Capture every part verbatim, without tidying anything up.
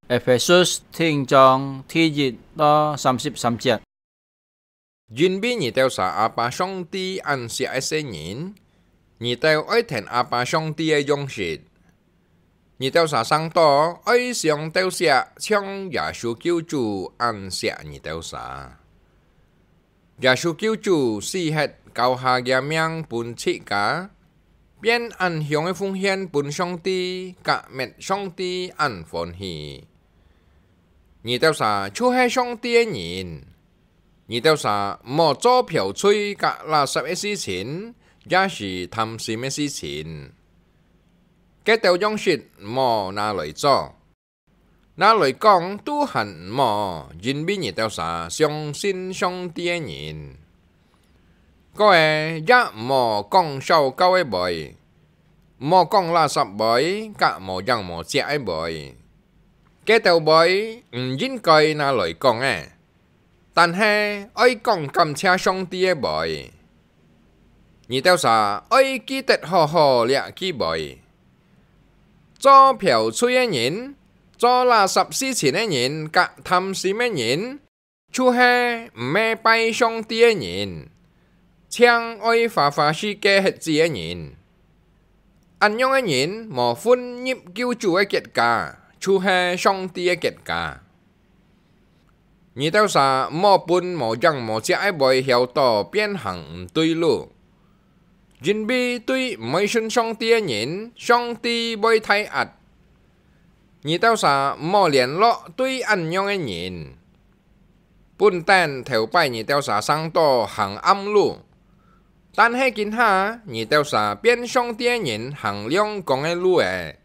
Ephesus第五章第一到三十三節。因為你兜儕阿爸上帝恁惜个細人，你兜愛跈阿爸上帝个樣式。你兜儕生到愛相鬥惜，像耶穌救主恁惜你兜儕。耶穌救主死忒，交下厥命分自家， 變恁香个奉獻分上帝，甲滅上帝恁歡喜。你兜儕就係上帝个人，你兜儕莫做剽碎甲垃圾个事情，也係貪心个事情。該兜樣式莫拿來做。 拿來講都還毋好，因為你兜儕相信上帝个人。過仔也毋好講燒膠个杯，毋好講垃圾杯，甲無影無跡个杯。該兜杯毋應該拿來講个， 但係愛講感謝上帝个杯。你兜儕愛記得好好這句杯。做剽碎个人，做垃圾事情个人，甲貪心个人，就係毋係拜上帝个人，淨愛花花世界歇子个人。 恁樣个人無分入救主个國家，就係上帝个國家。你兜儕莫分無影無跡个杯僥著變行毋對路，因為對毋會信上帝个人，上帝會大壓。你兜儕莫聯絡對恁樣个人。 本等頭擺你兜儕生到行暗路，但係今下你兜儕變上帝个人行亮光个路仔。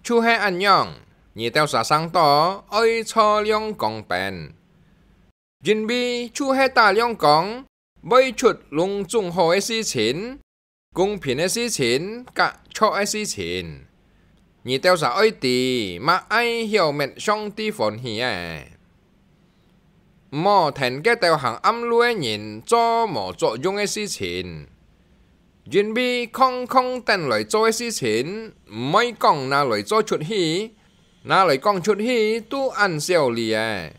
就係恁樣，你兜儕生到愛坐亮光邊，因為就係打亮光，會出攏總好个事情， 公平个事情，甲著个事情。你兜儕愛知，麼个曉滅上帝歡喜个。毋好跈該兜行暗路个人做無作用个事情，因為空空等來做个事情，毋會講拿來做出去，拿來講出去都恁少理仔。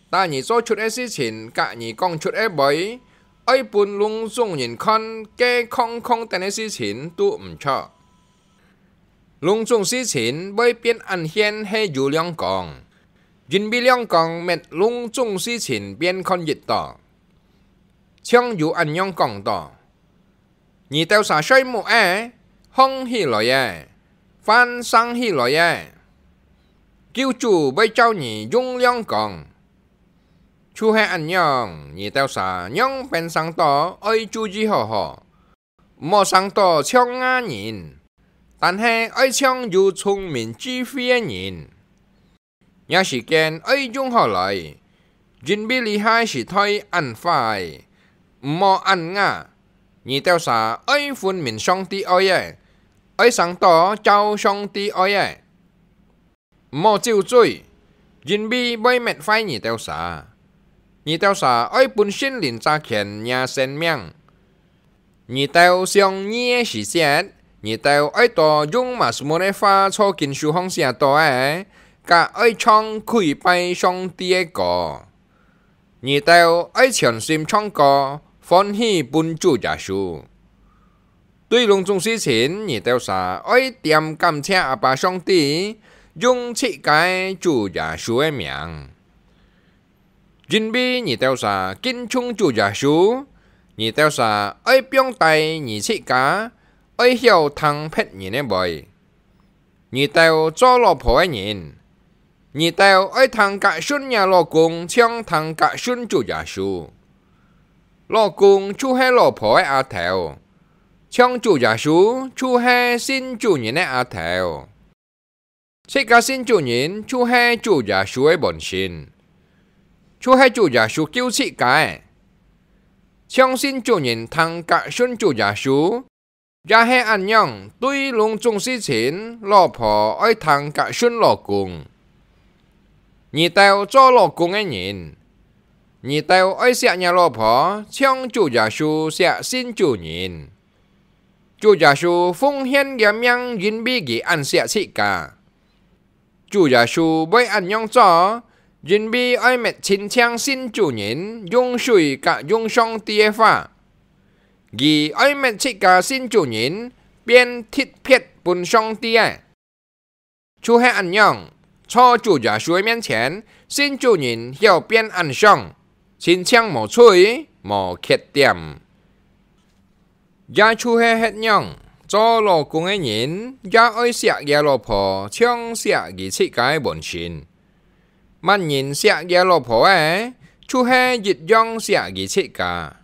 但你做出个事情，甲你講出个話，愛分攏總人看，該空空等个事情都毋著。攏總事情會變恁現係有亮光，因為亮光滅攏總事情變看得著。像有恁樣講著： 你兜儕睡目仔，䟘起來仔，翻生起來仔，救主會照你用亮光。就係恁樣，你兜儕仰般生到愛注意好好，毋好生到像𠊎人，但係愛像有聰明智慧个人。 若時間愛用好來，因為這下時代恁壞，毋好恁𠊎。你兜儕愛分明上帝愛个，愛生到照上帝愛个。毋好酒醉，因為會滅壞你兜儕。你兜儕愛分聖靈揸權若生命。 你兜想義个時節，你兜愛多用Mazmur个話做經書項寫著个，甲愛唱跪拜上帝个歌。你兜愛全心唱歌，歡喜分主耶穌。對攏總事情，你兜儕愛恬感謝阿爸上帝，用自家个主耶穌个名。 因為你兜儕敬重主耶穌，你兜儕愛放低你自家，愛曉聽別人个話。你兜做老婆个人，你兜愛聽較順若老公，像聽較順主耶穌。老公就係老婆个阿頭，像主耶穌就係信主人个阿頭。 自家信主人就係主耶穌个門生，就係主耶穌救自家个。像信主人聽較順主耶穌，也係恁樣，對攏總事情，老婆愛聽較順老公。你兜做老公个人，你兜愛惜若老婆，像主耶穌惜信主人。 主耶穌奉獻厥命，因為佢恁惜自家。主耶穌會恁樣做，因為愛搣親像信主人用水佮用上帝个話。佢愛搣自家信主人變特別分上帝个。就係恁樣，在主耶穌个面前，信主人曉變恁像，親像無罪、無缺點。 也就係歇仰，做老公个人也愛惜厥老婆，像惜佢自家个本身。麼人惜厥老婆个，就係一樣惜佢自家。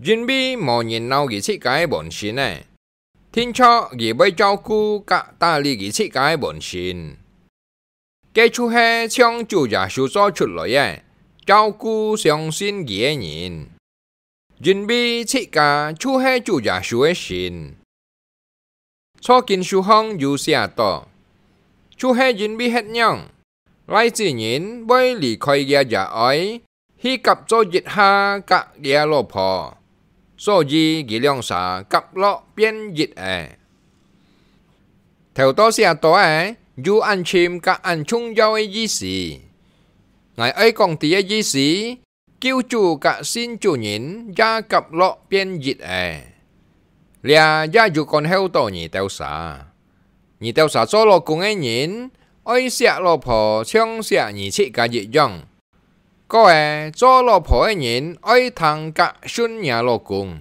因為無人惱佢自家个本身个，定著佢會照顧佮打理佢自家个本身。 該就係像主耶穌做出來个，照顧相信佢个人，因為自家就係主耶穌个身。在經書項有寫到，就係因為歇仰，倈子人會離開厥爺哀， 去合作一下佮厥老婆，所以佢兩儕合落變一个。頭到寫到个，有恁深佮恁重要个意思。𠊎愛講知个意思，救主佮信主人也合落變一个。這也有關係到你兜儕。你兜儕做老公个人，愛惜老婆像惜你自家一樣。 過仔，做老婆个人愛聽佮順若老公，